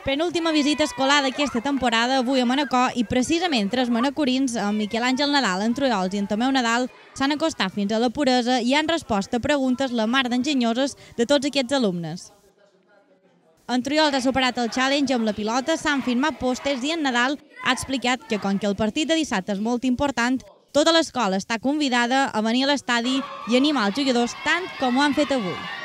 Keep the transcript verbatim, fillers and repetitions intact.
Penúltima visita escolar d'aquesta temporada, avui a Manacor, i precisament tres manacorins, en Miquel Àngel Nadal, en Trullols i en Tomeu Nadal, s'han acostat fins a la puresa i han respost a preguntes la mar d'enginyoses de tots aquests alumnes. En Trullols ha superat el challenge amb la pilota, s'han firmat pòsters i en Nadal ha explicat que, com que el partit de dissabte és molt important, tota l'escola està convidada a venir a l'estadi i animar els jugadors tant com ho han fet avui.